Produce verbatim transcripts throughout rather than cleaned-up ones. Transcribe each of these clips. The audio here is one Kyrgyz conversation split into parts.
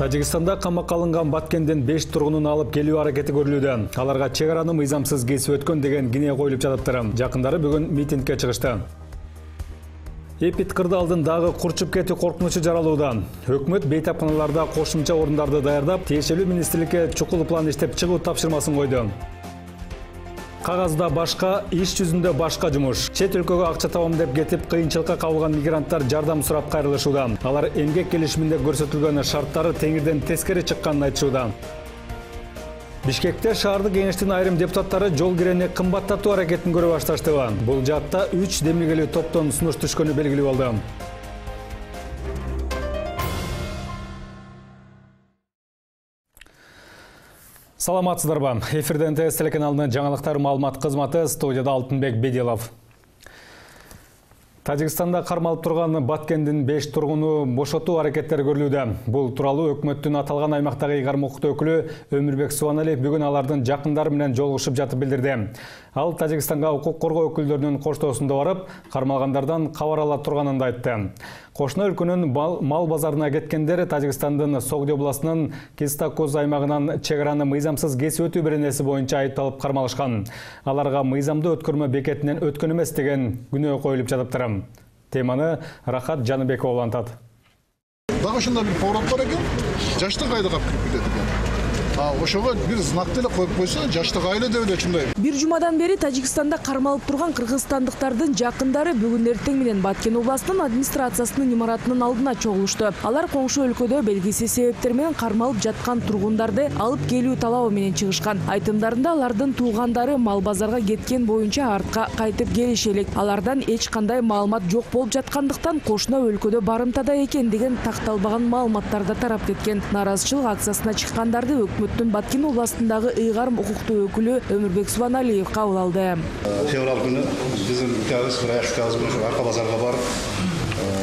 Тажикстанда камакка алынган Баткенден беш тургунун алып келүү аракети көрүлүүдө. Аларга чек араны мыйзамсыз кесип өткөн деген кине коюлуп жатыптыр. Жакындары бүгүн митингге чыгышты. Эпид кырдаалдын дагы курчуп кетүү коркунучу жаралууда. Өкмөт бейтапканаларда кошумча орундарды даярдап, тиешелүү министрликке чукул план иштеп чыгуу тапшырмасын койду. Кагазда башка, иш жүзүндө башка жумуш. Чет өлкөгө акча табам деп кетип, кыйынчылыкка кабылган мигранттар жардам сурап кайрылышууда. Алар эмгек келишиминде көрсөтүлгөн шарттары теңирден тескери чыкканын айтышууда. Бишкекте шаардык кеңештин айрым депутаттары жол кирени кымбаттатуу аракетин көрө башташты. Бул жаатта үч демилгелүү топтон сунуш түшкөнү белгилүү болду. Саламатсыздарбы? Эфирден ТС телеканалынын жаңылыктар маалымат кызматы, студияда Алтынбек Бедилов. Тажикстанда кармалып турган Баткендин беш тургуну бошотуу аракеттери көрүлүүдө. Бул тууралуу өкмөттүн аталган аймактагы ыйгарым укуктуу өкүлү Өмүрбек Субаналиев бүгүн алардын жакындары менен жолугушуп жатып билдирди. Ал Тажикстанга укук коргоо өкүлдөрүнүн коштоосунда барып, кармалгандардан кабар ала турганын да айтты. Кошуна өлкөнүн мал базарына кеткендер Тажикстандын Согди областынын Кистакуз аймагынан чек араны мыйзамсыз кесип өтүү беренеси боюнча айыпталып кармалышкан. Аларга мыйзамдуу өткөрмө бекетинен өткөн эмес деген күнөө коюлуп жатыптыр. Теманы Рахат Жаныбекова улантат. Дагы ушундай бир поворот бар экен, жаштык айылга кирип кетет экен. А ошого бир знак деле коюп койсо, жаштык айыл деп эле ушундай. Бир жумадан бери Тажикстанда кармалып турган кыргызстандыктардын жакындары бүгүн эртең менен Баткен областынын администрациясынын имаратынын алдына чогулушту. Алар коңшу өлкөдө белгисиз себептер менен кармалып жаткан тургундарды алып келүү талабы менен чыгышкан. Айтымдарында алардын туугандары мал базарга кеткен боюнча артка кайтып келиши элек. Алардан эч кандай маалымат жок болуп жаткандыктан кошуна өлкөдө барымтада экен деген такталбаган маалыматтар да тарап кеткен. Наразычылык акциясына чыккандарды өкмөттүн Баткен областындагы ыйгарым укуктуу өкүлү Өмүрбек Субаналиев кабыл алды. Февраль күнү биздин указ арка базарга барып,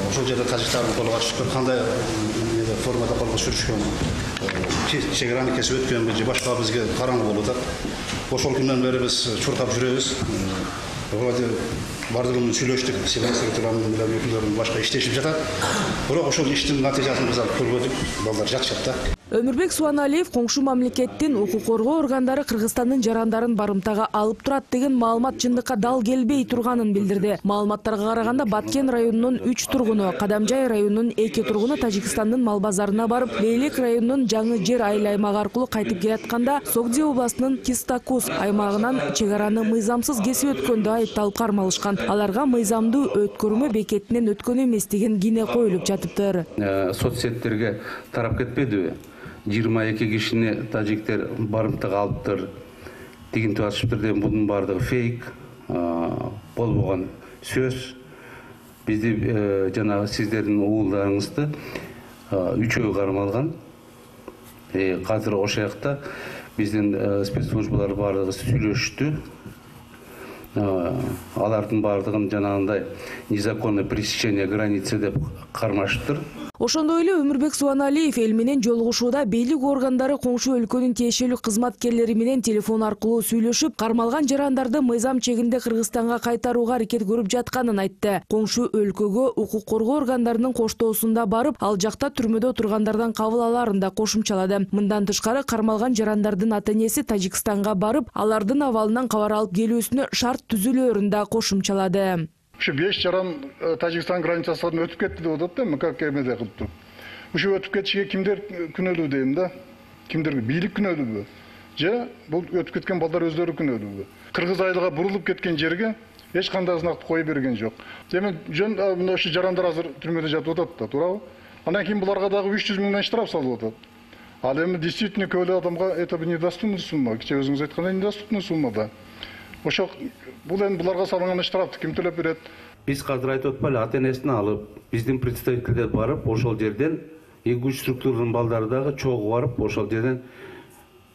ошол жерде тажиктардын колуга түшкөн, кандай формада колго сүрүшкөн, чек араны кесип өткөнбү же башка бизге караңгы болуп атат. Ошол күндөн бери биз чуркап жүрөбүз. Вроде бардыгын сүйлөштүк, секретарларынын менен өкүлдөрүн башка иштешип жатат. Бирок ошол иштин натыйжасын биз алып көрбөдүк. Балдар жатышат да. Өмүрбек Субаналиев коңшу мамлекеттин укук коргоо органдары Кыргызстандын жарандарын барымтага алып турат деген маалымат чындыкка дал келбей турганын билдирди. Маалыматтарга караганда Баткен районунун үч тургуну, Кадамжай районунун эки тургуну Тажикстандын мал базарына барып, Лейлек районунун Жаңы жер айыл аймагы аркылуу кайтып келатканда Согди областынын Кистакуз аймагынан чек араны мыйзамсыз кесип өткөндө айыпталып кармалышкан. Аларга мыйзамдуу өткөрмө бекетинен өткөн эмес деген кине коюлуп жатыптыр. Соцсеттерге тарап кетпедиби? жыйырма эки кишини тажиктер барымтага алыптыр, тигинтип атышыптыр деген бунун баардыгы фейк, болбогон сөз. Бизди жанагы сиздердин уулдарыңызды үчөө кармалган. Азыр ошол жакта биздин спецслужбалар баардыгы сүйлөштү. Алардын баардыгын жанагындай незаконное пересечение границы деп кармашыптыр. Ошондой эле Өмүрбек Субаналиев эл менен жолугушууда бийлик органдары коңшу өлкөнүн тиешелүү кызматкерлери менен телефон аркылуу сүйлөшүп, кармалган жарандарды мыйзам чегинде Кыргызстанга кайтарууга аракет көрүп жатканын айтты. Коңшу өлкөгө укук коргоо органдарынын коштоосунда барып, ал жакта түрмөдө отургандардан кабыл алаарын да кошумчалады. Мындан тышкары кармалган жарандардын ата-энеси Тажикстанга барып, алардын абалынан кабар алып келүүсүнө шарт түзүлөөрүн да кошумчалады. Ушу беш жаран Тажикстан границасынан өтүп кетти деп атат да, как эмеде кылып туруп. Ушу өтүп кетишиге кимдер күнөөлүү дейм да? Кимдер бийлик күнөөлүүбү? Же бул өтүп кеткен балдар өздөрү күнөөлүүбү? Кыргыз айылга бурулуп кеткен жерге эч кандай знакты кое берген жок. Демек жөн мына ушу жарандар азыр түрмөдө жатып атат да, туурабы? Андан кийин буларга дагы үч жүз миңден штраф салып атат. Ал эми действительно көөлө адамга это недоступный сумма, кечээ өзүңүз айткандай недоступный сумма да. Ошо бул эми буларга салынган штрафты ким төлөп берет? Биз азыр айтып атпайлы, ата-энесин алып, биздин представительдер барып, ошол жерден эки үч структуранын балдары дагы чогуу барып, ошол жерден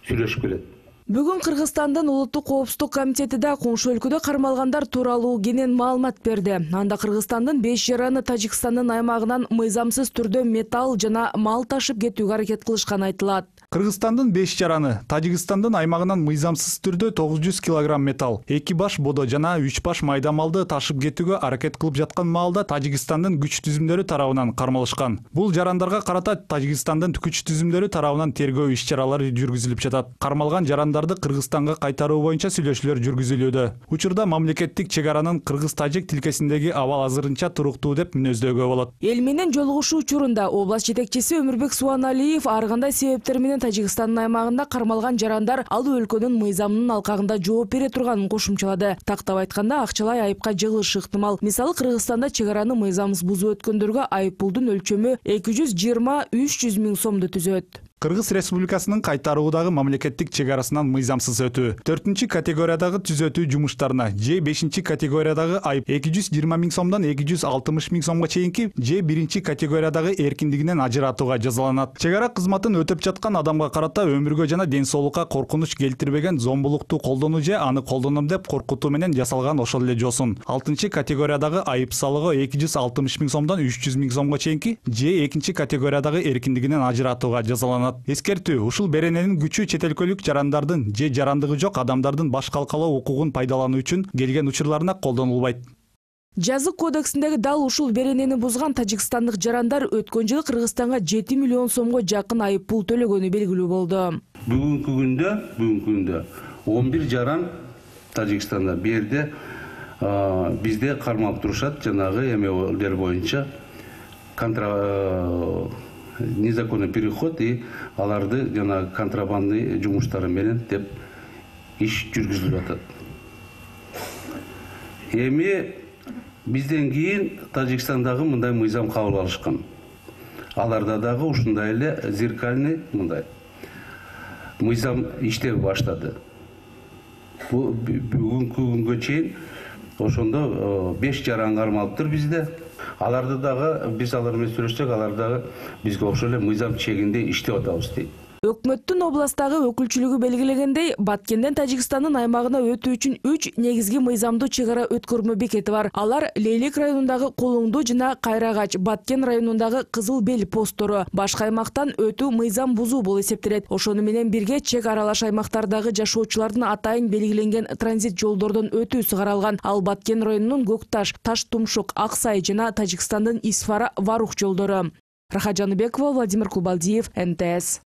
сүйлөшүп келет. Бүгүн Кыргызстандын улуттук коопсуздук комитети да коңшу өлкөдө кармалгандар тууралуу кенен маалымат берди. Анда Кыргызстандын беш жараны Тажикстандын аймагынан мыйзамсыз түрдө металл жана мал ташып кетүүгө аракет кылышканы айтылат. Кыргызстандын беш жараны, Тажикстандын аймагынан мыйзамсыз түрдө тогуз жүз килограмм металл, эки баш бодо жана үч баш майда малды ташып кетүүгө аракет кылып жаткан маалда Тажикстандын күч түзүмдөрү тарабынан кармалышкан. Бул жарандарга карата Тажикстандын күч түзүмдөрү тарабынан тергөө иш-чаралары жүргүзүлүп жатат. Кармалган жарандарды Кыргызстанга кайтаруу боюнча сүйлөшүүлөр жүргүзүлүүдө. Учурда мамлекеттик чек аранын кыргыз-тажик тилкесиндеги абал азырынча туруктуу деп мүнөздөөгө болот. Эл менен жолугушуу учурунда область жетекчиси Өмүрбек Субаналиев ар кандай себептер менен Тажикстандын аймагында кармалган жарандар ал өлкөнүн мыйзамынын алкагында жооп бере турганын кошумчалады. Тактап айтканда акчалай айыпка жыгылышы ыктымал. Мисалы Кыргызстанда чек араны мыйзамсыз бузуп өткөндөргө айыппулдун өлчөмү эки жүз жыйырма үч жүз миң сомду түзөт. Кыргыз Республикасынын кайтаруудагы мамлекеттик чек арасынан мыйзамсыз өтүү, төртүнчү категориядагы түзөтүү жумуштарына же бешинчи категориядагы айып эки жүз жыйырма миң сомдон эки жүз алтымыш миң сомго чейинки же биринчи категориядагы эркиндигинен ажыратууга жазаланат. Чек ара кызматын өтөп жаткан адамга карата өмүргө жана ден соолукка коркунуч келтирбеген зомбулукту колдонуу же аны колдоном деп коркутуу менен жасалган ошол эле жосун. алтынчы категориядагы айып салыгы эки жүз алтымыш миң сомдон үч жүз миң сомго чейинки же экинчи категориядагы эркиндигинен ажыратууга жазаланат. Эскертүү, ушул берененин күчү чет өлкөлүк жарандардын же жарандыгы жок адамдардын баш калкалоо укугун пайдалануу үчүн келген учурларына колдонулбайт. Жазык кодексиндеги дал ушул беренени бузган тажикстандык жарандар өткөн жылы Кыргызстанга жети миллион сомго жакын айып пул төлөгөнү белгилүү болду. Бүгүнкү күндө, бүгүнкү күндө он бир жаран Тажикстанда бу жерде бизде кармалып турушат, жанагы эмелер боюнча контра незаконный переход и аларды жана контрабандный жумуштары менен деп иш жүргүзүлүп атат. Эми бизден кийин Тажикстандагы мындай мыйзам кабыл алышкан. Аларда дагы ушундай эле зеркальный мындай мыйзам иштеп баштады. Бу бүгүнкү күнгө чейин ошондо беш жаран кармалыптыр бизде. Аларды дагы биз алар менен сүйлөшсөк, алар дагы бизге окшош эле мыйзам чегинде иштеп атабыз дейт. Өкмөттүн областтагы өкүлчүлүгү белгилегендей, Баткенден Тажикстандын аймагына өтүү үчүн үч негизги мыйзамдуу чек ара өткөрмө бекети бар. Алар Лейлек районундагы Кулуңду жана Кайрагач, Баткен районундагы Кызыл Бел посттору. Башка аймактан өтүү мыйзам бузуу болуп эсептелет. Ошону менен бирге чек аралаш аймактардагы жашоочулардын атайын белгиленген транзит жолдордон өтүүсү каралган. Ал Баткен районунун Көкташ, Таш-Тумшук, Аксай жана Тажикстандын Исфара, Варух жолдору. Рахат Жаныбекова, Владимир Кубалдиев, эн тэ эс.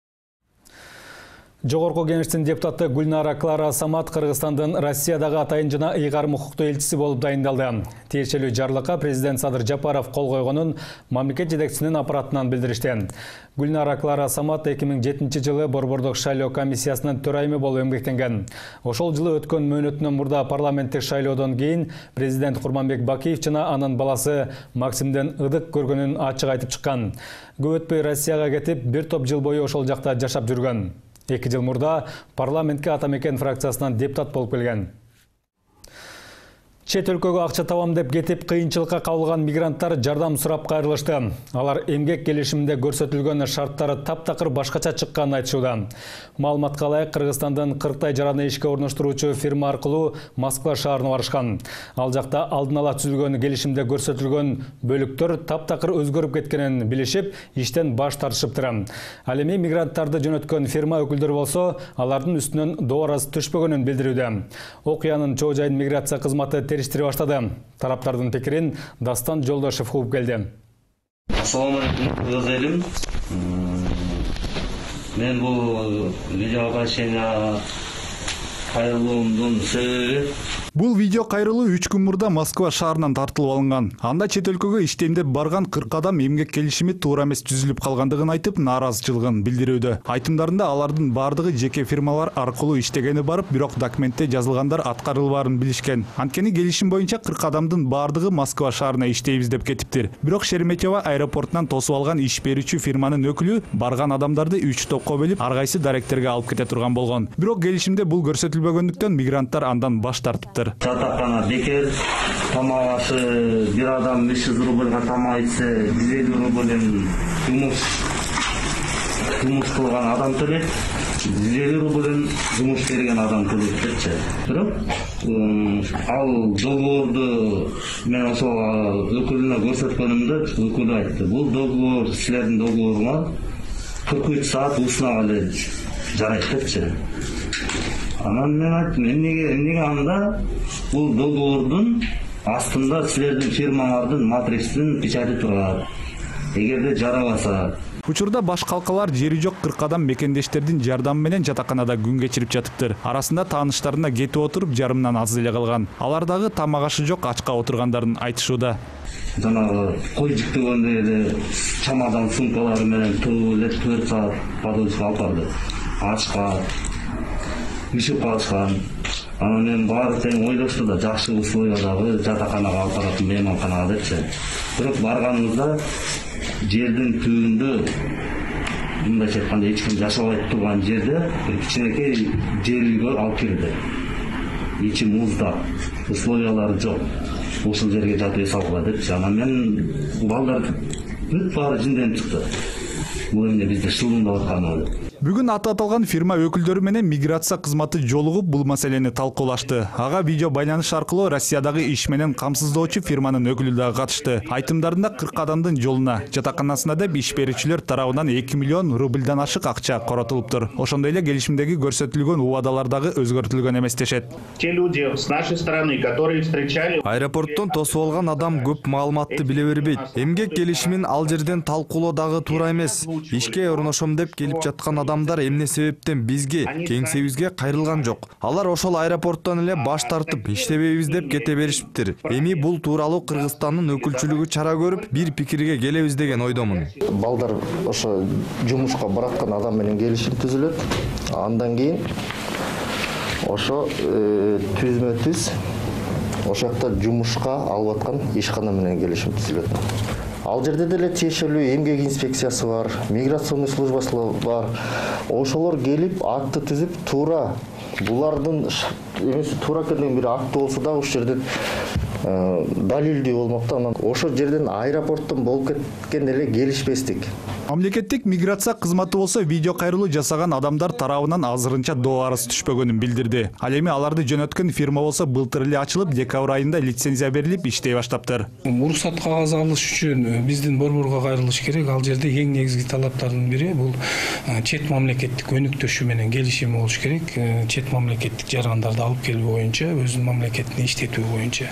Жогорку Кеңештин депутаты Гүлнара Клара Самат Кыргызстандын Россиядагы атайын жана ыйгарым укуктуу элчиси болуп дайындалды. Тиешелүү жарлыкка президент Садыр Жапаров кол койгонун мамлекет жетекчисинин аппаратынан билдиришти. Гүлнара Клара Самат эки миң жетинчи жылы Борбордук шайлоо комиссиясынын төрайымы болуп эмгектенген. Ошол жылы өткөн мөөнөтүнөн мурда парламенттик шайлоодон кийин президент Курманбек Бакиев жана анын баласы Максимден ыдык көргөнүн ачык айтып чыккан. Көп өтпөй Россияга кетип, бир топ жыл бою ошол жакта жашап жүргөн. Эки жыл мурда парламентке Атамекен фракциясынан депутат болуп келген. Чет өлкөгө акча табам деп кетип, кыйынчылыкка кабылган мигранттар жардам сурап кайрылышты. Алар эмгек келишиминде көрсөтүлгөн шарттары таптакыр башкача чыкканын айтышууда. Маалыматка ылайык, Кыргызстандын кырктай жараны ишке орноштуруучу фирма аркылуу Москва шаарына барышкан. Ал жакта алдын ала түзүлгөн келишимде көрсөтүлгөн бөлүктөр таптакыр өзгөрүп кеткенин билишип, иштен баш тартышыптыр. Ал эми мигранттарды жөнөткөн фирма өкүлдөрү болсо, алардын үстүнөн дооразы түшпөгөнүн билдирүүдө. Окуянын чоо жайын миграция кызматы териштире баштады. Тараптардын пикирин Дастан Жолдошев угуп келди. Assalamu alaikum, кыргыз элим. Мен бул видео кайрылуумдун кайрылуумдун себеби Бул видео кайрылуу үч күн мурда Москва шаарынан тартылып алынган. Анда чет өлкөгө иштейм деп барган кырк адам эмгек келишими туура эмес түзүлүп калгандыгын айтып, нааразычылыгын билдирүүдө. Айтымдарында алардын бардыгы жеке фирмалар аркылуу иштегени барып, бирок документте жазылгандар аткарылбаарын билишкен. Анткени келишим боюнча кырк адамдын бардыгы Москва шаарына иштейбиз деп кетиптир. Бирок Шереметьево аэропортунан тосуп алган иш берүүчү фирманын өкүлү барган адамдарды үч топко бөлүп, ар кайсы даректерге алып кете турган болгон. Бирок келишимде бул көрсөтүлбөгөндүктөн мигранттар андан баш тартыптыр. Жатакана бекер, тамак ашы бир адам беш жүз рубльга тамак ичсе, жүз элүү рубльден жумуш жумуш кылган адам төлөйт, жүз элүү рубльден жумуш берген адам төлөйт депчи. Бирок ал договорду мен ошол өкүлүнө көрсөткөнүмдө өкүлү айтты. Бул договор силердин договоруңар кырк үч саат уусунага эле жарайт депчи. Анан мен айттым, эмнеге эмнеге анда бул договордун астында силердин фирмалардын матричтин печати турат. Эгерде жарабаса. Учурда баш калкалар жери жок кырк адам мекендештердин жардамы менен жатаканада күн кечирип жатыптыр. Арасында тааныштарына кетип отуруп жарымдан аз эле калган. Алар дагы тамак ашы жок ачка отургандарын айтышууда. Жанагы кой жиктегенде эле чамадан сумкалары менен туруп эле төрт саат подольска алып барды. Ачка, ишип калышкан. Анан мен баары тең ойлошту да жакшы условиядагы жатаканага алып барат, мейманканага депчи. Бирок барганыбызда жердин түбүндө мындайча айтканда эч ким жашабай турган жерде бир кичинекей жер үйгө алып кирди. Ичи муздак, условиялары жок. Ушул жерге жатып эс алгыла депчи. Анан мен балдар бүт баары жинденип чыкты. Бул эмне бизди шылымдап атканыбы деп. Бүгүн аты аталган фирма өкүлдөрү менен миграция кызматы жолугуп бул маселени талкуулашты. Ага видео байланыш аркылуу Россиядагы иш менен камсыздоочу фирманын өкүлү дагы катышты. Айтымдарында кырк адамдын жолуна, жатаканасына деп иш берүүчүлөр тарабынан эки миллион рубльдан ашык акча коротулуптур. Ошондой эле келишимдеги көрсөтүлгөн убадалар дагы өзгөртүлгөн эмес дешет. Те люди с нашей стороны, которые встречали... Аэропорттон тосуп алган адам көп маалыматты биле бербейт. Эмгек келишимин ал жерден талкуулоо дагы туура эмес. Ишке орношом деп келип жаткан адам адамдар эмне себептен бизге, кеңсебизге кайрылган жок. Алар ошол аэропорттон эле баш тартып иштебейбиз деп кете беришиптир. Эми бул тууралуу Кыргызстандын өкүлчүлүгү чара көрүп, бир пикирге келебиз деген ойдомун. Балдар ошо жумушка бараткан адам менен келишим түзүлөт. Андан кийин ошо түзмө түз ошол жакта жумушка алып аткан ишкана менен келишим түзүлөт. Ал жерде деле тиешелүү эмгек инспекциясы бар, миграционный службасы бар. Ошолор келип акты түзүп, туура булардын эмеси туура келген бир акты болсо да ошол жерден далилдүү болмокта. Анан ошол жерден аэропорттон болуп кеткен эле келишпестик. Мамлекеттик миграция кызматы болсо видео кайрылуу жасаган адамдар тарабынан азырынча доо арыз түшпөгөнүн билдирди. Ал эми аларды жөнөткөн фирма болсо былтыр эле ачылып, декабрь айында лицензия берилип иштей баштаптыр. Уруксат кагазы алыш үчүн биздин борборго кайрылыш керек. Ал жерде эң негизги талаптардын бири бул чет мамлекеттик өнүктөшү менен келишим болуш керек. Чет мамлекеттик жарандарды алып келүү боюнча, өзүнүн мамлекетине иштетүү боюнча.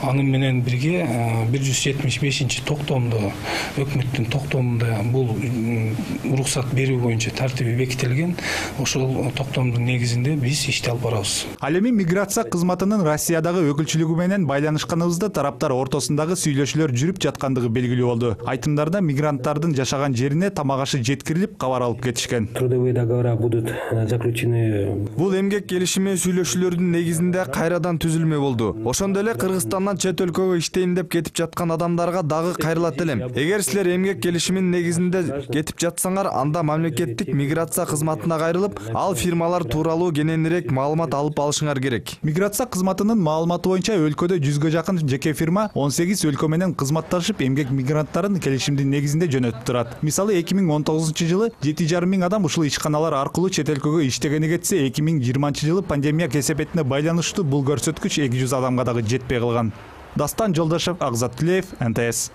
Аны менен бирге бир жүз жетимиш бешинчи токтомдо, өкмөттүн токтомунда бул уруксат берүү боюнча тартиби бекитилген. Ошол токтомдун негизинде биз ишти алып барабыз. Ал эми миграция кызматынын Россиядагы өкүлчүлүгү менен байланышканыбызда тараптар ортосундагы сүйлөшүүлөр жүрүп жаткандыгы белгилүү болду. Айтымдарда мигранттардын жашаган жерине тамак ашы жеткирилип, кабар алып кетишкен. Трудовые договора будут заключены. Бул эмгек келишими сүйлөшүүлөрдүн негизинде кайрадан түзүлмө болду. Ошондой эле Кыргызстандан чет өлкөгө иштейм деп кетип жаткан адамдарга дагы кайрылат элем. Эгер силер эмгек келишиминин негизинде кетип жатсаңар, анда мамлекеттик миграция кызматына кайрылып, ал фирмалар тууралуу кененирээк маалымат алып алышыңар керек. Миграция кызматынын маалыматы боюнча өлкөдө жүзгө жакын жеке фирма он сегиз өлкө менен кызматташып, эмгек мигранттарын келишимдин негизинде жөнөтүп турат. Мисалы эки миң он тогузунчу жылы жети жарым миң адам ушул ишканалар аркылуу чет өлкөгө иштегени кетсе, эки миң жыйырманчы жылы пандемия кесепетине байланыштуу бул көрсөткүч эки жүз адамга дагы жетпей калган. Дастан Жолдошев, Акзат Тилеев, эн тэ эс.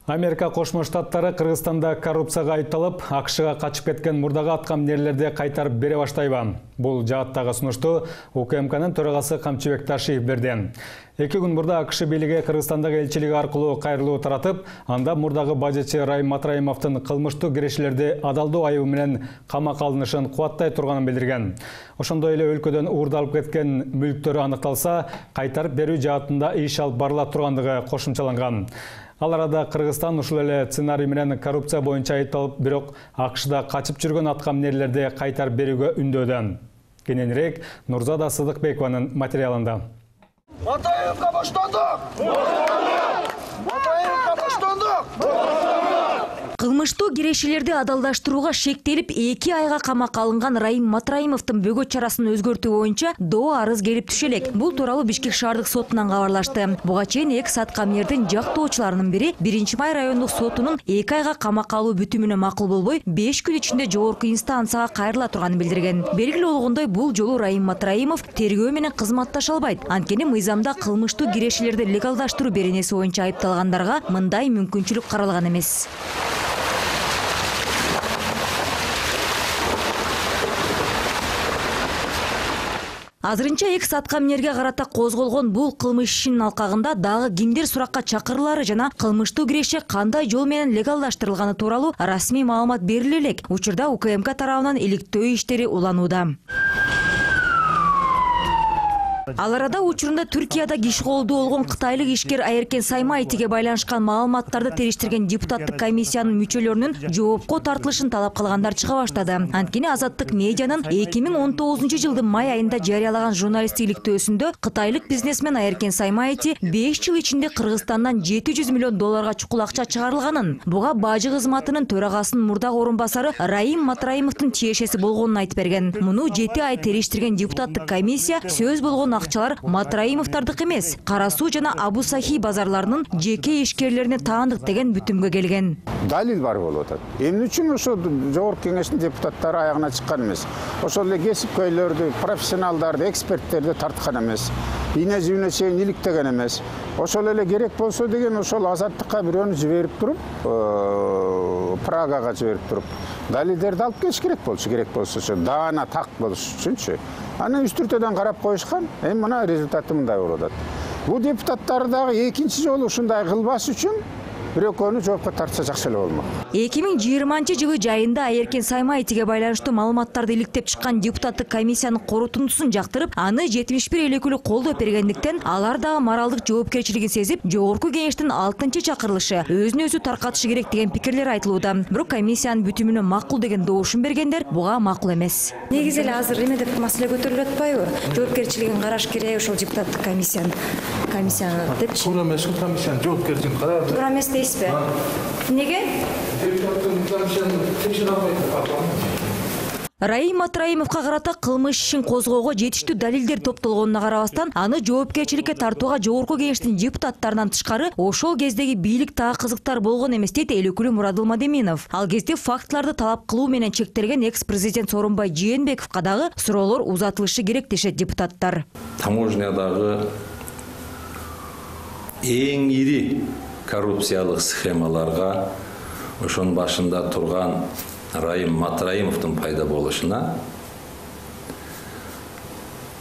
Америка Кошмо Штаттары Кыргызстанда коррупцияга айыпталып, АКШга качып кеткен мурдагы аткаминерлерди кайтарып бере баштайбы? Бул жааттагы сунушту У К М Кнын төрагасы Камчыбек Ташиев берди. Эки күн мурда АКШ бийлиги Кыргызстандагы элчилиги аркылуу кайрылуу таратып, анда мурдагы бажычы Райым Матраимовдун кылмыштуу кирешилерди адалдоо айыбы менен камакка алынышын кубаттай турганын билдирген. Ошондой эле өлкөдөн уурдалып кеткен мүлктөрү аныкталса, кайтарып берүү жаатында иш алып барыла тургандыгы кошумчаланган. Ал арада Кыргызстан ушул эле сценарий менен коррупция боюнча айыпталып, бирок АКШда качып жүргөн аткаминерлерди кайтарып берүүгө үндөөдө. Кененирээк Нурзада Сыдыкбекованын материалында. Матаевка баштандык! Матаевка баштандык! Кылмыштуу кирешелерди адалдаштырууга шектелип эки айга камакка алынган Раим Матраимовдун бөгөт чарасын өзгөртүү боюнча доо арыз келип түшө элек. Бул тууралуу Бишкек шаардык сотунан кабарлашты. Буга чейин экс аткаминердин жактоочуларынын бири биринчи май райондук сотунун эки айга камакка алуу бүтүмүнө макул болбой, беш күн ичинде жогорку инстанцияга кайрыла турганын билдирген. Белгилүү болгондой, бул жолу Раим Матраимов тергөө менен кызматташа албайт. Анткени мыйзамда кылмыштуу кирешелерди легалдаштыруу беренеси боюнча айыпталгандарга мындай мүмкүнчүлүк каралган эмес. Азырынча экс аткаминерге карата козголгон бул кылмыш ишинин алкагында дагы кимдер суракка чакырылары жана кылмыштуу киреше кандай жол менен легалдаштырылганы тууралуу расмий маалымат бериле элек. Учурда УКМК тарабынан иликтөө иштери уланууда. Ал арада учурунда Түркияда киши колдуу болгон кытайлык ишкер Айеркен Саймайтиге байланышкан маалыматтарды териштирген депутаттык комиссиянын мүчөлөрүнүн жоопко тартылышын талап кылгандар чыга баштады. Анткени Азаттык медианын эки миң он тогузунчу жылдын май айында жарыялаган журналисттик иликтөөсүндө кытайлык бизнесмен Айеркен Саймайти беш жыл ичинде Кыргызстандан жети жүз миллион долларга чукул акча чыгарылганын, буга бажы кызматынын төрагасынын мурдагы орун басары Раим Матраимовдун тиешеси болгонун айтып берген. Муну жети ай териштирген депутаттык комиссия сөз болгон акчалар Матраимовдардык эмес, Кара Суу жана Абу Сахи базарларынын жеке ишкерлерине таандык деген бүтүмгө келген. Далил бар болуп атат. Эмне үчүн ошо жогорку кеңештин депутаттары аягына чыккан эмес? Ошол эле кесипкөйлөрдү, профессионалдарды, эксперттерди тарткан эмес. Ийне жүнүнө чейин иликтеген эмес. Ошол эле керек болсо деген ошол Азаттыкка бирөөнү жиберип туруп, Прагага жиберип туруп, далилдерди алып келиш керек болчу, керек болсочу, даана так болуш үчүнчү. Аны үстүртөдөн карап коюшкан, эми мына результаты мындай болуп атат. Бул депутаттар дагы экинчи жолу ушундай кылбаш үчүн бирөкөнү жоопко тартса жакшы эле болмок. эки миң жыйырманчы жылы жайында Айеркен Саймайтиге байланыштуу маалыматтарды иликтеп чыккан депутаттык комиссиянын корутундусун жактырып, аны жетимиш бир эл өкүлү колдоп бергендиктен, алар дагы моралдык жоопкерчилигин сезип, жогорку кеңештин алтынчы чакырылышы өзүн өзү таркатышы керек деген пикирлер айтылууда. Бирок комиссиянын бүтүмүнө макул деген доошун бергендер буга макул эмес. Негизи эле азыр эме деп маселе көтөрүлүп атпайбы? Жоопкерчилигин караш керек ошол депутаттык комиссиянын комиссияны депчи. Туура эмес, комиссиянын жоопкерчилигин карап. Туура эмес дейсизби? Неге? Раим Матраимовго карата кылмыш ишин козгоого жетиштүү далилдер топтолгонуна карабастан, аны жоопкерчиликке тартууга жогорку кеңештин депутаттарынан тышкары ошол кездеги бийлик так кызыктар болгон эмес дейт эл өкүлү Мурадыл Мадеминов. Ал кезде фактыларды талап кылуу менен чектелген экс-президент Сооронбай Жээнбековго дагы суроолор узатылышы керек дешет депутаттар. Таможнядагы эң ири коррупциялык схемаларга ошонун башында турган Раим Матраимовдун пайда болушуна,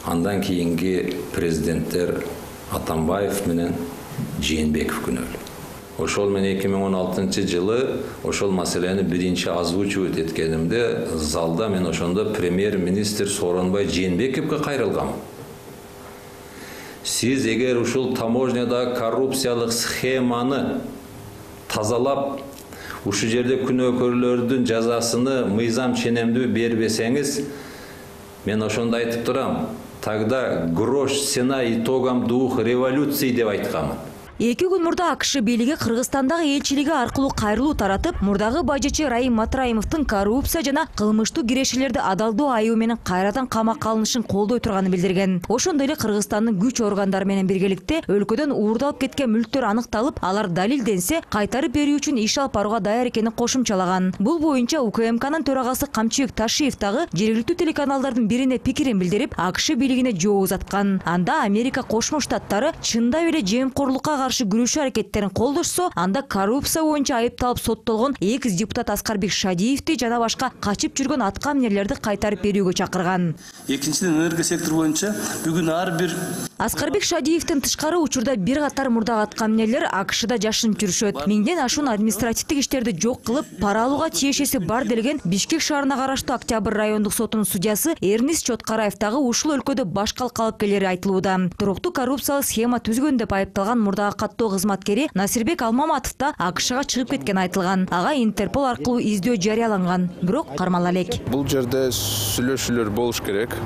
андан кийинки президенттер Атамбаев менен Жээнбеков күнөөлүү. Ошол менен эки миң он алтынчы жылы ошол маселени биринчи озвучивать эткенимде залда мен ошондо премьер-министр Сооронбай Жээнбековго кайрылгам. Сиз эгер ушул таможнядагы коррупциялык схеманы тазалап, ушу жерде күнөөкөрлөрдүн жазасыны мыйзам ченемдүү бербесеңиз, мен ошондо айтып турам, тогда грош цена итогам двух революций деп айткам. Эки күн мурда АКШ бийлиги Кыргызстандагы элчилиги аркылуу кайрылуу таратып, мурдагы бажычы Раим Матраимовдун коррупция жана кылмыштуу кирешелерди адалдоо айыбы менен кайрадан камакка алынышын колдой турганын билдирген. Ошондой эле Кыргызстандын күч органдары менен биргеликте өлкөдөн уурдалып кеткен мүлктөр аныкталып, алар далилденсе, кайтарып берүү үчүн иш алып барууга даяр экенин кошумчалаган. Бул боюнча УКМКнын төрагасы Камчыбек Ташиев дагы жергиликтүү телеканалдардын бирине пикирин билдирип, АКШ бийлигине жоо узаткан. Анда Америка Кошмо Штаттары чындап эле жемкорлукка каршы күрөшүү аракеттерин колдошсо, анда коррупция боюнча айыпталып соттолгон экс депутат Аскарбек Шадиевди жана башка качып жүргөн аткаминерлерди кайтарып берүүгө чакырган. Экинчиден, энергия сектор боюнча бүгүн ар бир Аскарбек Шадиевдин тышкары учурда бир катар мурдагы аткаминерлер АКШда жашынып жүрүшөт. Миңден ашуун административдик иштерди жок кылып, пара алууга тиешеси бар делген Бишкек шаарына караштуу Октябрь райондук сотунун судьясы Эрнис Чоткараев дагы ушул өлкөдө баш калка алып келери айтылууда. Туруктуу коррупциялык схема түзгөн деп айыпталган мурдагы каттоо кызматкери Насирбек Алмаматов да АКШга чыгып кеткен айтылган. Ага Интерпол аркылуу издөө жарыяланган, бирок кармала элек. Бул жерде сүйлөшүүлөр болуш керек.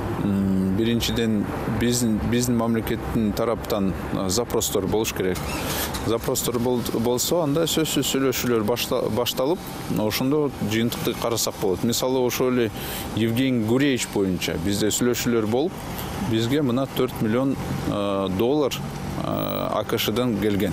биринчиден биздин биздин мамлекеттин тараптан запростор болуш керек. Запростор болсо, анда сөзсүз сүйлөшүүлөр башталып, ошондо жыйынтыкты карасак болот. Мисалы, ошол эле Евгений Гуревич боюнча бизде сүйлөшүүлөр болуп, бизге мына төрт миллион доллар АКШдан келген.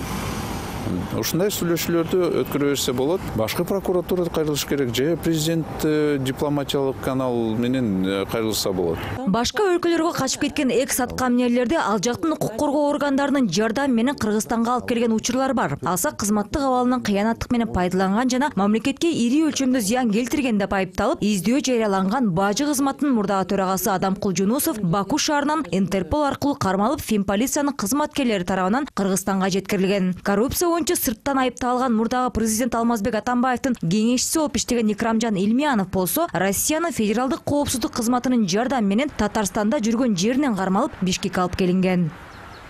Ушундай сүйлөшүүлөрдү өткөрө берсе болот. Башкы прокуратурада кайрылыш керек, же президент дипломатиялык канал менен кайрылса болот. Башка өлкөлөргө качып кеткен экс аткаминерлерди ал жактын укук коргоо органдарынын жардамы менен Кыргызстанга алып келген учурлар бар. Алса кызматтык абалынан кыянаттык менен пайдаланган жана мамлекетке ири өлчөмдө зыян келтирген деп айыпталып, издөө жарыяланган бажы кызматынын мурдагы төрагасы Адамкул Жунусов Баку шаарынан Интерпол аркылуу кармалып, Финполициянын кызматкерлери тарабынан Кыргызстанга жеткирилген. Коррупция боюнча сырттан айыпталган мурдагы президент Алмазбек Атамбаевдин кеңешчиси болуп иштеген Икрамжан Илмиянов болсо, Россиянын федералдык коопсуздук кызматынын жардамы менен Татарстанда жүргөн жеринен кармалып, Бишкекке алып келинген.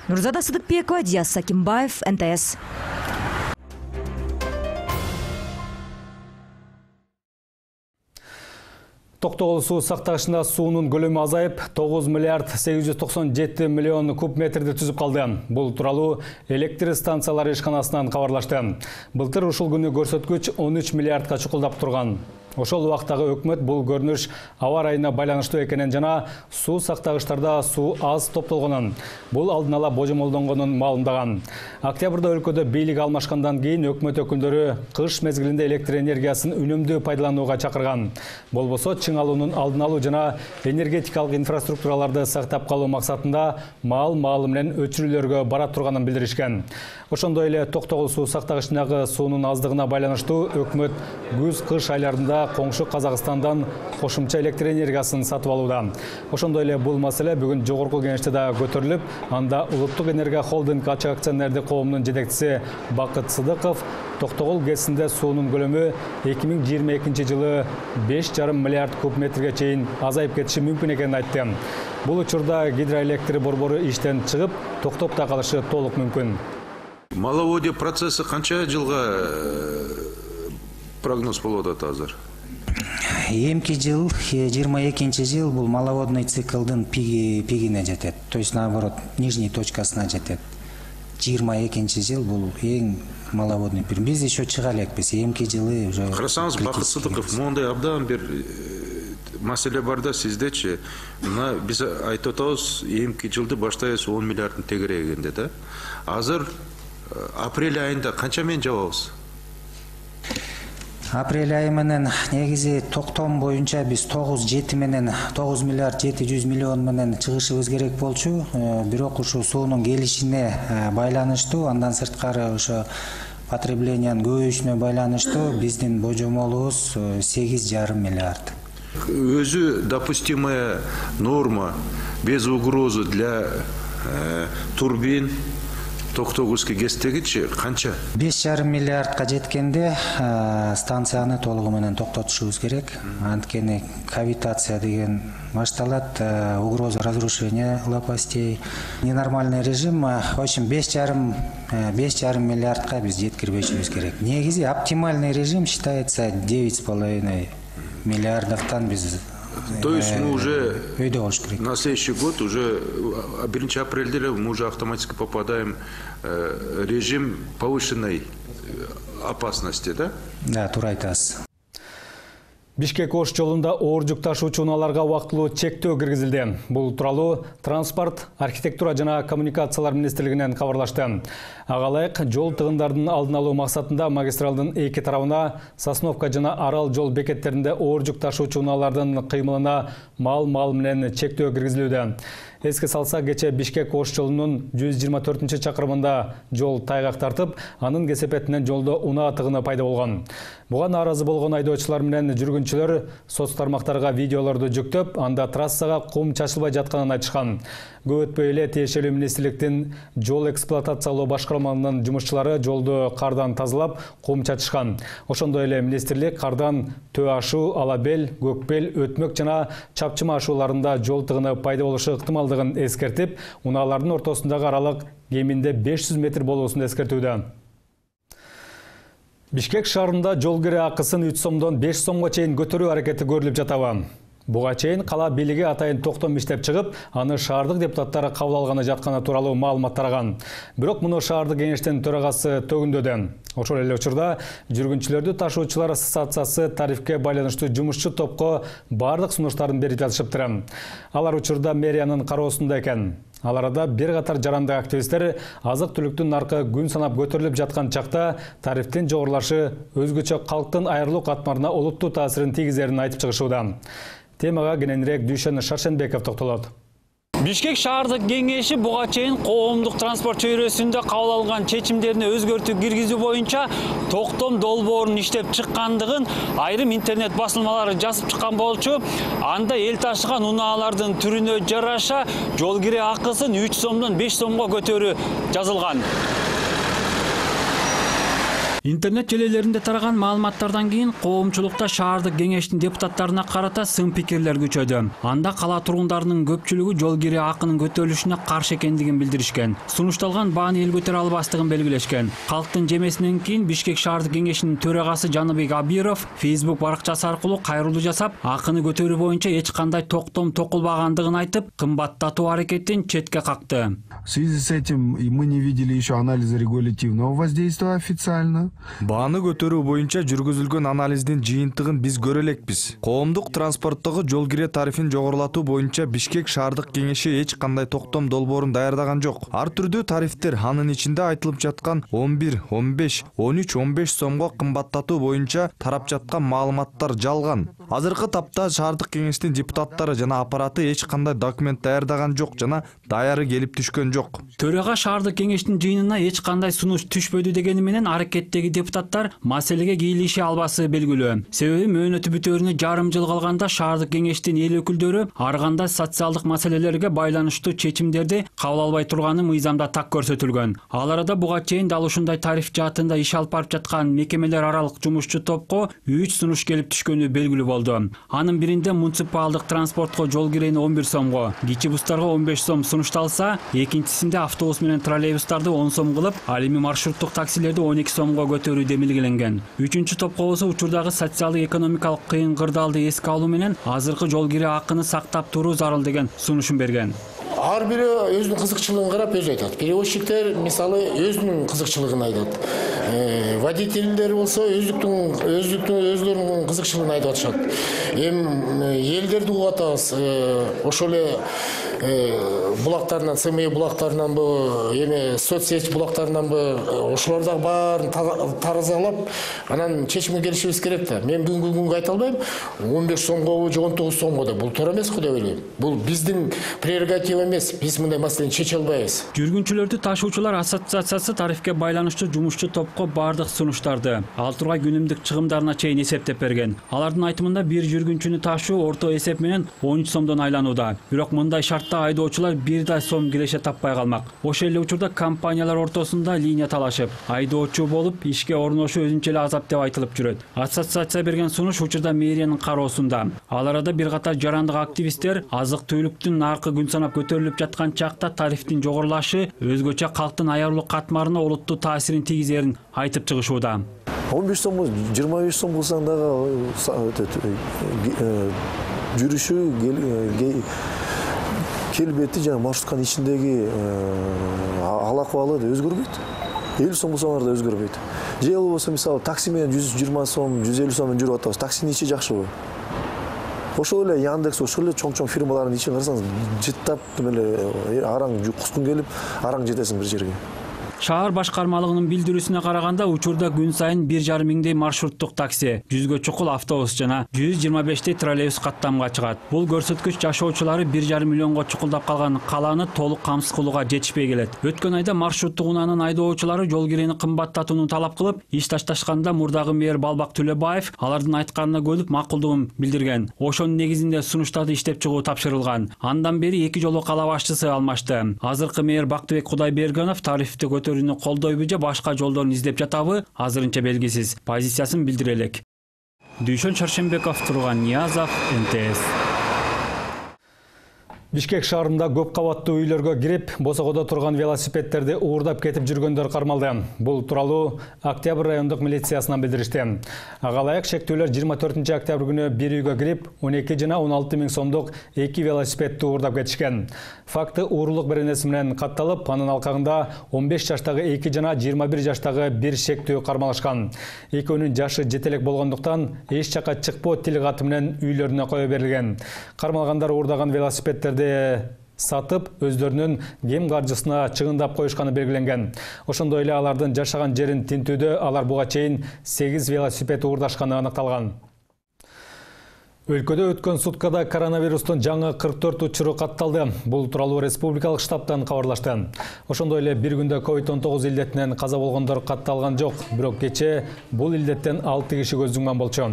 Нурзада Сыдыкбекова, Диас Сакимбаев, Н Т С. Токтогул суу сактагычында суунун көлөмү азайып, тогуз миллиард сегиз жүз токсон жети миллион куб метрди түзүп калды. Бул тууралуу электр станциялары ишканасынан кабарлашты. Былтыр ушул күнү көрсөткүч он үч миллиардка чукулдап турган. Ошол убактагы өкмөт бул көрүнүш аба ырайына байланыштуу экенин жана суу сактагычтарда суу аз топтолгонун, бул алдын ала божомолдонгонун маалымдаган. Октябрда өлкөдө бийлик алмашкандан кийин өкмөт өкүлдөрү кыш мезгилинде электр энергиясын үнөмдүү пайдаланууга чакырган. Болбосо чың алуунун алдын алуу жана энергетикалык инфраструктураларды сактап калуу максатында маал маалы менен өчүрүүлөргө бара турганын билдиришкен. Ошондой эле Токтогул суу сактагычындагы суунун аздыгына байланыштуу өкмөт күз-кыш айларында коңшу Казакстандан кошумча электр энергиясын сатып алууда. Ошондой эле бул маселе бүгүн жогорку кеңеште да көтөрүлүп, анда Улуттук энергия холдинг ачык акционердик коомунун жетекчиси Бакыт Сыдыков Токтогул ГЭСинде суунун көлөмү эки миң жыйырма экинчи жылы беш жарым миллиард куб метрге чейин азайып кетиши мүмкүн экенин айтты. Бул учурда гидроэлектр борбору иштен чыгып, токтоп да калышы толук мүмкүн. Маловодье процесси канча жылга прогноз болуп атат азыр? Эмки жыл, жыйырма экинчи жыл бул маловодный циклдын пиги пигине жетет. То есть наоборот, нижней точкасына жетет. жыйырма экинчи жыл бул эң маловодный период. Биз еще чыга элекпиз. Эмки жылы уже. Карасаңыз, Бакыт Сыдыков, мондай абдан бир маселе бар да сиздечи. Мына биз айтып атабыз, эмки жылды баштайбыз он миллиардтын тегерегинде да. Азыр апрель айында канча менен жабабыз? Апрель айы менен негизи токтом боюнча биз тогуз жети менен тогуз миллиард жети жүз миллион менен чыгышыбыз керек болчу. Бирок ушу суунун келишине байланыштуу, андан сырткары ошо потреблениянын көбөйүшүнө байланыштуу биздин божомолубуз сегиз жарым миллиард. Өзү допустимая норма без угрозы для э, турбин Токтогульский ГЭСтегичи канча? беш жарым миллиардка жеткенде станцияны толугу менен токтотушубуз керек. Анткени кавитация деген башталат, угроза разрушения лопастей, ненормальный режим. В общем, беш жарым миллиардка биз жеткирбешибиз керек. Негизи оптимальный режим считается девять с половиной миллиардовтан биз. То есть мы уже на следующий год, уже биринчи апрелде мы уже автоматически попадаем в режим повышенной опасности, да? Да, туура айтасыз. Бишкек-Ош жолунда оор жүк ташуучу унааларга убактылуу чектөө киргизилди. Бул тууралуу Транспорт, архитектура жана коммуникациялар министрлигинен кабарлашты. Ага ылайык жол тыгындардын алдын алуу максатында магистралдын эки тарабына Сосновка жана Арал жол бекеттеринде оор жүк ташуучу унаалардын кыймылына мал-мал менен чектөө киргизилүүдө. Эске салса, кече Бишкек-Ош жолунун жүз жыйырма төртүнчү чакырымында жол тайгак тартып, анын кесепетинен жолдо унаа тыгыны пайда болгон. Буга нааразы болгон айдоочулар менен жүргүнчүлөр соц тармактарга видеолорду жүктөп, анда трассага кум чачылбай жатканын айтышкан. Көп өтпөй эле тиешелүү министрликтин жол эксплуатациялоо башкармаларынын жумушчулары жолду кардан тазалап, кум чачышкан. Ошондой эле министрлик кардан Төө ашуу, Алабел, Көкбел, Өтмөк жана Чапчыма ашууларында жол тыгыны пайда болушу ыктымалдыгын эскертип, унаалардын ортосундагы аралык кеминде беш жүз метр болуусун эскертүүдө. Бишкек шаарында жол кире акысын үч сомдон беш сомго чейин көтөрүү аракети көрүлүп жатабы. Буга чейин кала бийлиги атайын токтом иштеп чыгып, аны шаардык депутаттары кабыл алганы жатканы тууралуу маалымат тараган. Бирок муну шаардык кеңештин төрагасы төгүндөдү. Ошол эле учурда жүргүнчүлөрдү ташуучулар ассоциациясы тарифке байланыштуу жумушчу топко бардык сунуштарын берип жатышыптыр. Алар учурда мэриянын кароосунда экен. Ал арада бир катар жарандык активисттер азык-түлүктүн наркы күн санап көтөрүлүп жаткан чакта тарифтин жогорулашы өзгөчө калктын айрылуу катмарына олуттуу таасирин тийгизерин айтып чыгышууда. Темага кененирээк Дүйшөн Шаршенбеков токтолот. Бишкек шаардык кеңеши буга чейин коомдук транспорт чөйрөсүндө кабыл алган чечимдерине өзгөртүү киргизүү боюнча токтом долбоорун иштеп чыккандыгын айрым интернет басылмалары жазып чыккан болчу. Анда эл ташыган унаалардын түрүнө жараша жол кире акысын үч сомдон беш сомго көтөрүү жазылган. Интернет желелеринде тараган маалыматтардан кийин коомчулукта шаардык кеңештин депутаттарына карата сын пикирлер күчөдү. Анда кала тургундарынын көпчүлүгү жол кире акынын көтөрүлүшүнө каршы экендигин билдиришкен. Сунушталган бааны эл көтөрө албастыгын белгилешкен. Калктын жемесинен кийин Бишкек шаардык кеңешинин төрагасы Жаныбек Абиров Facebook баракчасы аркылуу кайрылуу жасап, акыны көтөрүү боюнча эч кандай токтом токулбагандыгын айтып, кымбаттатуу аракетин четке какты. В связи с этим мы не видели еще анализа регулятивного воздействия официально. Бааны көтөрүү боюнча жүргүзүлгөн анализдин жыйынтыгын биз көрө элекпиз. Коомдук транспорттогу жол кире тарифин жогорулатуу боюнча Бишкек шаардык кеңеши эч кандай токтом долбоорун даярдаган жок. Ар түрдүү тарифтер, анын ичинде айтылып жаткан он бир, он беш, он үч, он беш сомго кымбаттатуу боюнча тарап жаткан маалыматтар жалган. Азыркы тапта шаардык кеңештин депутаттары жана аппараты эч кандай документ даярдаган жок жана даяры келип түшкөн жок. Төрага шаардык кеңештин жыйынына эч кандай сунуш түшпөдү дегени менен аракеттеги депутаттар маселеге кийлише албасы белгилүү. Себеби мөөнөтү бүтөөрүнө жарым жыл калганда шаардык кеңештин эл өкүлдөрү ар кандай социалдык маселелерге байланыштуу чечимдерди кабыл албай турганы мыйзамда так көрсөтүлгөн. Ал арада буга чейин дал ушундай тариф жаатында иш алып барып жаткан мекемелер аралык жумушчу топко үч сунуш келип түшкөнү белгилүү болду. Анын биринде муниципалдык транспортко жол кирени он бир сомго, кичи бустарга он беш сом сунушталса, экинчисинде автобус менен троллейбустарды он сом кылып, ал эми маршруттук таксилерди он эки сомго көтөрүү демилгеленген. Үчүнчү топко болсо учурдагы социалдык экономикалык кыйын кырдаалды эске алуу менен азыркы жол кире акыны сактап туруу зарыл деген сунушун берген. Ар бири өзүнүн кызыкчылыгын карап өзү айтат. Перевозчиктер мисалы өзүнүн кызыкчылыгын айтат. Водительдер болсо өздүктүн өздүктүн өзлөрүнүн кызыкчылыгын айтып атышат. Эми элдерди угуп атабыз. Ошол эле булактарынан, СМИ булактарынанбы, эми соцсеть булактарынанбы, ошолор дагы баарын таразалап, анан чечимге келишибиз керек да. Мен бүгүнкү күнгө айта албайм, он беш сомго же он тогуз сомго да. Бул туура эмес го деп ойлойм. Бул биздин прерогатива эмес, биз мындай маселени чече албайбыз. Жүргүнчүлөрдү ташуучулар ассоциациясы тарифке байланыштуу жумушчу топко бардык сунуштарды, ал тургай күнүмдүк чыгымдарына чейин эсептеп берген. Алардын айтымында бир жүргүнчүнү ташуу орто эсеп менен он үч сомдон айланууда. Бирок мындай шартта айдоочулар бир да сом киреше таппай калмак. Ошол эле учурда компаниялар ортосунда линия талашып, айдоочу болуп ишке орношуу өзүнчө эле азап деп айтылып жүрөт. Ассоциация берген сунуш учурда мэриянын кароосунда. Ал арада бир катар жарандык активисттер азык-түлүктүн наркы күн санап көтөрүлүп жаткан чакта тарифтин жогорулашы өзгөчө калктын аярылуу катмарына олуттуу таасирин тийгизерин айтып чыгышууда. он беш сом, жыйырма беш сом кылсаң дагы жүрүшү келбети жана маршрутканын ичиндеги ал акыбалы да өзгөрбөйт. элүү сом болсоңар да өзгөрбөйт. Же болбосо мисалы такси менен жүз жыйырма сом, жүз элүү сомдон жүрүп атабыз. Таксинин ичи жакшыбы? Ошол эле Яндекс, ошол эле чоң-чоң фирмалардын ичин карасаңыз, жыттап эле араң кускун келип, араң жетесиң бир жерге. Шаар башкармалыгынын билдирүүсүнө караганда учурда күн сайын бир жарым миңдей маршруттук такси, жүзгө чукул автобус жана жүз жыйырма бештей троллейбус каттамга чыгат. Бул көрсөткүч жашоочулары бир жарым миллионго чукулдап калган каланы толук камсыз кылууга жетишпей келет. Өткөн айда маршруттук унаанын айдоочулары жол кирени кымбаттатууну талап кылып, иш ташташканда мурдагы мэр Балбак Төлөбаев алардын айтканына көнүп макулдугун билдирген. Ошонун негизинде сунуштарды иштеп чыгуу тапшырылган. Андан бери эки жолу кала башчысы алмашты. Азыркы мэр Бактыбек Кудайбергенов тарифти көтөрүүнү колдойбу же башка жолдорун издеп жатабы азырынча белгисиз. Позициясын билдире элек. Дүйшөн Шаршенбеков, Турган Ниязов, эн тэ эс. Бишкек шаарында көп кабаттуу үйлөргө кирип, босогодо турган велосипедтерди уурдап кетип жүргөндөр кармалды. Бул тууралуу Октябрь райондук милициясынан билдиришти. Ага ылайык шектүүлөр жыйырма төртүнчү октябрь күнү бир үйгө кирип, он эки жана он алты миң сомдук эки велосипедти уурдап кетишкен. Факты уурулук беренеси менен катталып, анын алкагында он беш жаштагы эки жана жыйырма бир жаштагы бир шектүү кармалышкан. Экөөнүн жашы жете элек болгондуктан эч жака чыкпоо тил каты менен үйлөрүнө кое берилген. Кармалгандар уурдаган велосипедтерди сатып, өздөрүнүн кем каржысына чыгындап коюшканы белгиленген. Ошондой эле алардын жашаган жерин тинтүүдө алар буга чейин сегиз велосипед уурдашканы аныкталган. Өлкөдө өткөн суткада коронавирустун жаңы кырк төрт учуру катталды. Бул тууралуу республикалык штабтан кабарлашты. Ошондой эле бир күндө ковид он тогуз илдетинен каза болгондор катталган жок, бирок кечээ бул илдеттен алты киши көз жумган болчу.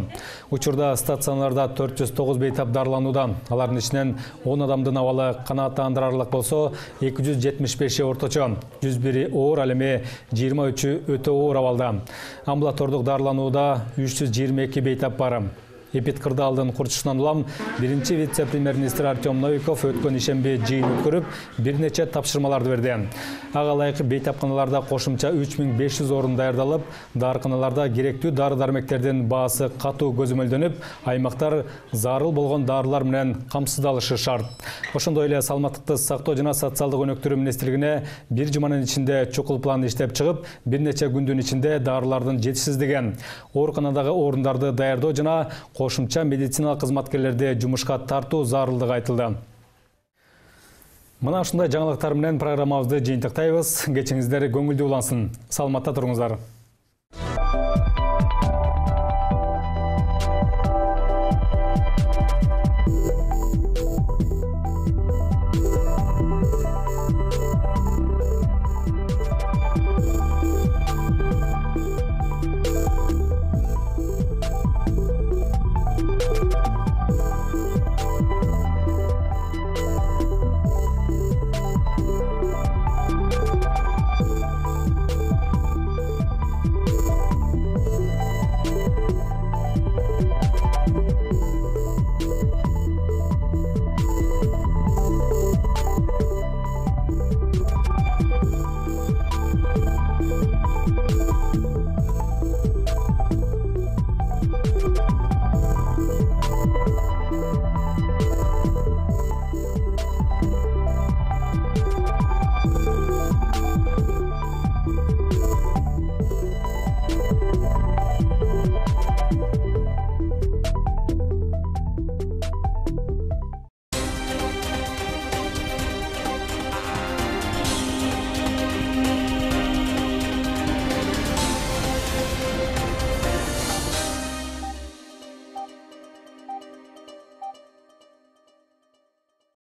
Учурда стационарда төрт жүз тогуз бейтап дарыланууда. Алардын ичинен он адамдын абалы канааттандырарлык болсо, эки жүз жетимиш беши орточо, жүз бири оор, ал эми жыйырма үчү өтө оор абалда. Амбулатордук дарыланууда үч жүз жыйырма эки бейтап бар. Эпидкырдаалдын курчусунан улам биринчи вице-премьер-министр Артем Новиков өткөн ишемби жыйын өткөрүп, бир нече тапшырмаларды берди. Ага ылайык бейтапканаларда кошумча үч миң беш жүз орун даярдалып, дарыканаларда керектүү дары-дармектердин баасы катуу көзөмөлдөнүп, аймактар зарыл болгон дарылар менен камсыздалышы шарт. Ошондой эле саламаттыкты сактоо жана социалдык өнөктүрүү министрлигине бир жуманын ичинде чукул план иштеп чыгып, бир нече күндүн ичинде дарылардын жетишсиздиги, ооруканадагы орундарды даярдоо жана кошумча медициналык кызматкерлерди жумушка тартуу зарылдыгы айтылды. Мына ушундай жаңылыктар менен программабызды жыйынтыктайбыз. Кечиңиздер көңүлдүү улансын. Саламатта туруңуздар.